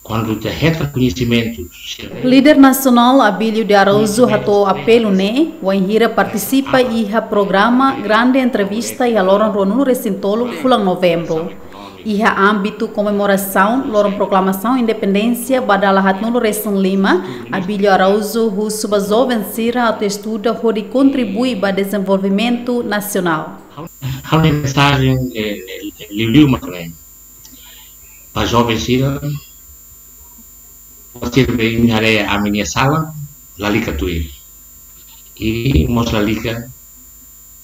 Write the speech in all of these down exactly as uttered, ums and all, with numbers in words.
Kuandu ita hetan koñesimentu, líder nasionál Abílio de Araújo hato'o apelu ne'e wainhira partisipa iha programa Grande Entrevista iha loron ruanulu resin tolu fulan Novembru. Iha ámbitu komemorasaun loron proklamasaun independénsia ba dala haatnulu resin lima, Abílio Araújo husu ba joven sira atu estuda hodi kontribui ba dezenvolvimentu nasionál. Ha'u-nia mensajen, eh, eh, liuliu mak ne'e. Ba joven sira, ba sira be imi haree ami-nia sala, lalika tuir. I mós lalika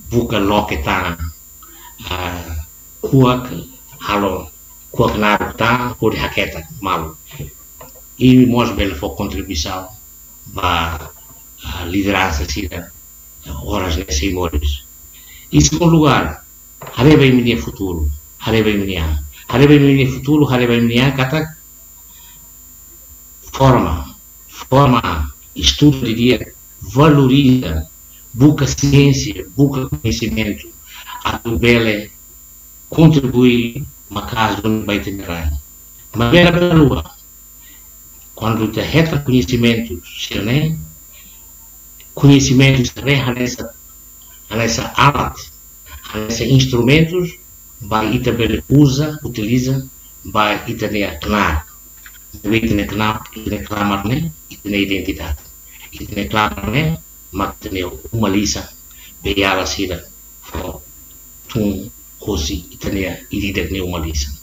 buka loke tan, ah, kuak, halo kuak naruk tan, hodi haketak malu. I mós bele fó kontribuisaun ba, ah, lideransa sira, ah, oras ne'e sei moris. I segundu lugar, haree ba imi-nia futuru, haree ba imi-nia an. Haree ba imi-nia futuru, haree ba imi-nia an, katak forma, forma, estuda didi'ak, valoriza, buka siénsia, buka koñesimentu, atu bele kontribui maka'as duni ba ita-nia rai. Maibé labele haluha, kuandu ita hetan koñesimentu sira-ne'e, koñesimentu sira-ne'e hanesan, hanesan alat, hanesan instrumentus ba ita bele uza, utiliza ba ita-nia knaar. Maibé ita-nia knaar, ita-nia klamar ne'e ita-nia identidade. Ita-nia klamar ne'e mak ita-nia uma lisan, beiala sira fó tun hosi ita-nia ida-idak nia uma lisan.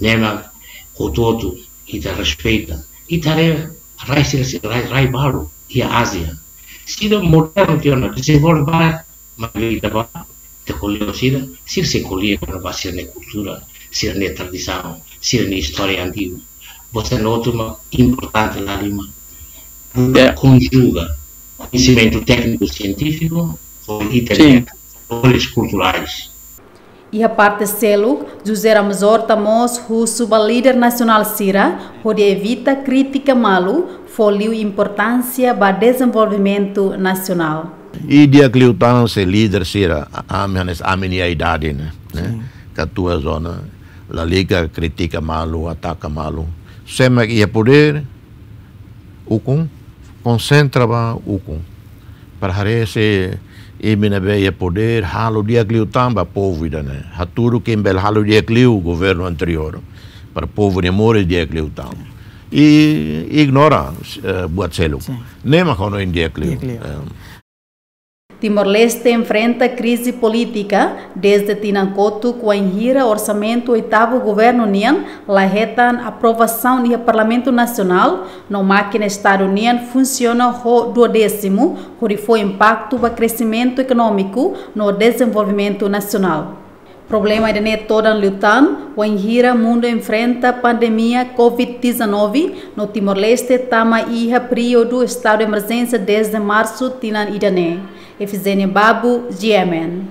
Ne'e mak hotu-hotu ita respeita. Ita haree rai sira, rai, rai balu iha Ázia. Sira modernu tiha ona, dezenvolve barak, maibé ita bá, ita ko'alia ho sira, sira sei ko'alia kona-ba sira-nia kultura, sira-nia tradisaun, sira-nia istória antigu. Bosen hotu mak importante la lima. Buka, ya, konjuga koñesimentu tékniku sientífiku ho ita-nia valores kulturais. Iha parte seluk, José Ramos Horta mós husu ba líder nasionál sira hodi evita krítika malu, fó liu importánsia ba dezenvolvimentu nasionál. I di'ak liután se líder sira, a-, ami hanesan ami-nia idade ne'e, ne'e? Sin. Katuas ona, lalika kritika malu, ataka malu. Sé mak iha podér, ukun, konsentra ba ukun. Para haree se imi ne'ebé iha podér, halo di'ak liután ba povu ida-ne'e. Hatudu imi bele halo di'ak liu governu anteriór. Para povu nia moris di'ak liután. I ignora, eh, buat seluk. Sin. Ne'e mak hanoin di'ak liu. Di'ak liu. Eh. Timor-Leste enfrenta krize polítika dezde tinan kotuk wainhira orsamentu oitavu governu nian la hetan aprovasaun iha Parlamentu Nasionál, no mákina Estadu nian funsiona ho duodésimu, hodi fó impaktu ba kresimentu ekonómiku no dezenvolvimentu nasionál. Problema ida-ne'e todan liután wainhira mundu enfrenta pandemia covid dezanove, no Timor-Leste tama iha períodu estadu emerjénsia dezde marsu tinan ida-ne'e. Efigénia Babu, G M N.